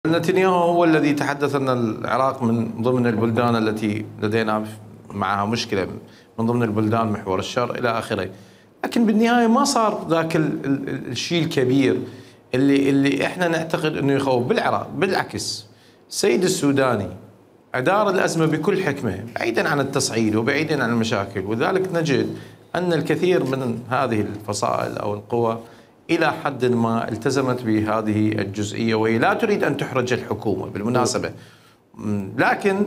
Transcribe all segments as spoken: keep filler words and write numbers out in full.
نتنياهو هو الذي تحدث أن العراق من ضمن البلدان التي لدينا معها مشكلة، من ضمن البلدان محور الشر إلى آخره. لكن بالنهاية ما صار ذاك الشيء الكبير اللي اللي احنا نعتقد انه يخوف بالعراق. بالعكس السيد السوداني أدار الأزمة بكل حكمة بعيدا عن التصعيد وبعيدا عن المشاكل، وذلك نجد أن الكثير من هذه الفصائل أو القوى إلى حد ما التزمت بهذه الجزئية، وهي لا تريد أن تحرج الحكومة بالمناسبة، لكن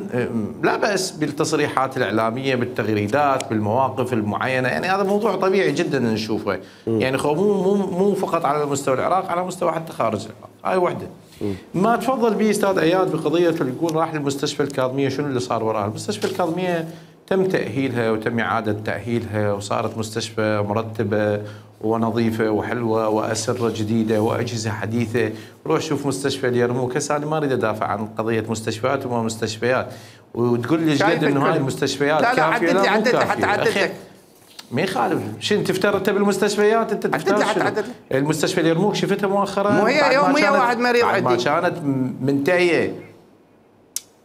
لا بأس بالتصريحات الإعلامية، بالتغريدات، بالمواقف المعينة. يعني هذا موضوع طبيعي جدا نشوفه، يعني مو مو مو فقط على مستوى العراق، على مستوى حتى خارج العراق. هاي وحدة. ما تفضل به أستاذ اياد بقضية اللي يقول راح للمستشفى الكاظمية، شنو اللي صار وراها؟ المستشفى الكاظمية تم تأهيلها وتم إعادة تأهيلها وصارت مستشفى مرتبة ونظيفة وحلوة وأسرة جديدة وأجهزة حديثة. روح شوف مستشفى اليرموك. هسه أنا ما أريد أدافع عن قضية مستشفيات وما مستشفيات، وتقول لي جد إنه هاي المستشفيات لا لا كافية. لا لا عدد لي حتى عدد لك. ما يخالف. شو انت افترضت بالمستشفيات؟ انت تفترض المستشفى اليرموك شفتها مؤخرا؟ مو هي يوميا واحد مريض عندي ما كانت منتهيه.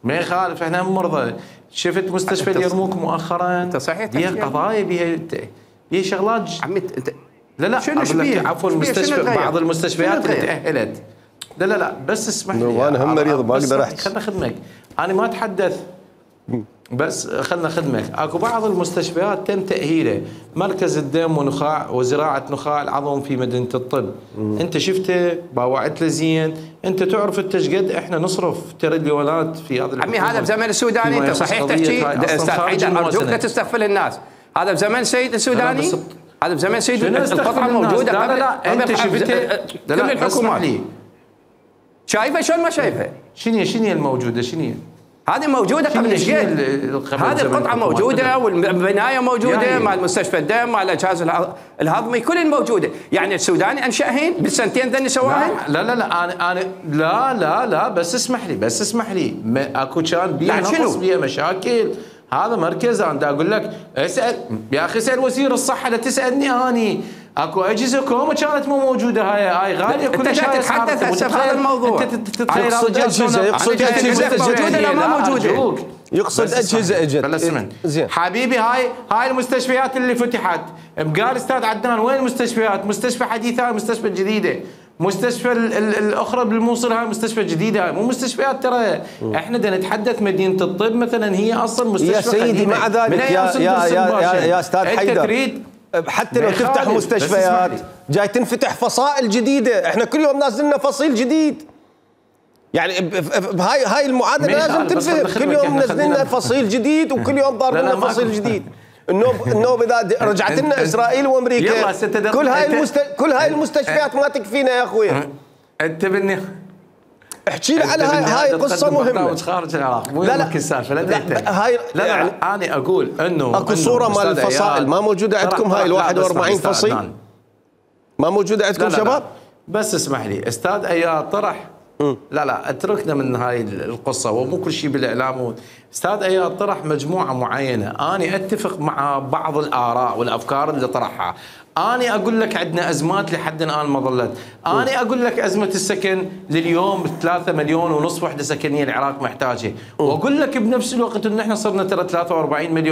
ما يخالف، احنا مرضى. شفت مستشفى اليرموك مؤخرا؟ انت صحيح بيها قضايا، بيها بيها شغلات. عمي انت لا لا شنو شبيه؟ عفوا المستشفى بعض المستشفيات اللي تأهلت. لا لا لا بس اسمح لي، انا هم مريض ما اقدر احكي. خلنا خدمك، انا ما اتحدث بس خلنا خدمك. اكو بعض المستشفيات تم تأهيله، مركز الدم ونخاع وزراعة نخاع العظم في مدينة الطب. مم. انت شفته، باوعت له زين، انت تعرف انت ايش قد احنا نصرف تريليونات في هذا. عمي هذا بزمن السوداني، انت صحيح تحكي استاذ حيدر، ارجوك لا تستغفل الناس. هذا بزمن السيد السوداني، هذا بزمن سيد القطعة موجودة. لا لا لا انت شفته كل الحكومات شايفه شلون ما شايفه؟ شنو شنو الموجودة؟ شنو هذه موجودة قبل ايش قد؟ هذه القطعة موجودة والبناية موجودة، يعني مع المستشفى الدم، مع الجهاز الهضمي، كل موجودة. يعني السوداني انشأهن بالسنتين ذني سواهن؟ لا لا لا انا انا لا لا لا بس اسمح لي، بس اسمح لي، اكو كان بيها نقص، بيها مشاكل. هذا مركز انا اقول لك اسال يا اخي، اسال وزير الصحة، لا تسالني اني. اكو اجهزه كوما كانت مو موجوده، هاي هاي غاليه كل شيء. انت تتحدث هسه في هذا الموضوع، انت تتخيل يقصد اجهزه، يقصد اجهزه موجوده لا ما موجوده، يقصد اجهزه اجت. بل اسمعني حبيبي، هاي هاي المستشفيات اللي فتحت. قال استاذ عدنان وين المستشفيات؟ مستشفى حديثه، هاي مستشفى جديده. مستشفى الاخرى بالموصل هاي مستشفى جديده، هاي مو مستشفيات. ترى احنا بدنا نتحدث مدينه الطب مثلا هي اصلا مستشفى يا سيدي. مع ذلك يا يا يا, يا استاذ حيدر، حتى لو تفتح مستشفيات جاي تنفتح فصائل جديده. احنا كل يوم نازلنا فصيل جديد، يعني بهاي هاي المعادله لازم تنفهم. كل يوم نزلنا فصيل جديد وكل يوم ضاربنا فصيل جديد. النوب النوب اذا رجعت لنا اسرائيل وامريكا، كل هاي المست... كل هاي المستشفيات ما تكفينا يا اخوي. انت بدني احكي لي على هاي هاي قصه مهمه خارج العراق. مو لا لا السالفه. لا لا هاي لا يعني انا اقول انه اكو صوره مال الفصائل ما موجوده عندكم. هاي ال واحد وأربعين فصيل ما موجوده عندكم لا لا شباب. بس اسمح لي استاذ اياد، طرح م. لا لا اتركنا من هاي القصه، ومو كل شيء بالاعلام. استاذ اياد طرح مجموعه معينه، انا اتفق مع بعض الاراء والافكار اللي طرحها. أنا أقول لك عندنا أزمات لحد الآن ما ظلت. أنا أقول لك أزمة السكن لليوم ثلاثة مليون ونصف وحدة سكنية العراق محتاجة، وأقول لك بنفس الوقت إنه إحنا صرنا ترى ثلاثة وأربعين مليون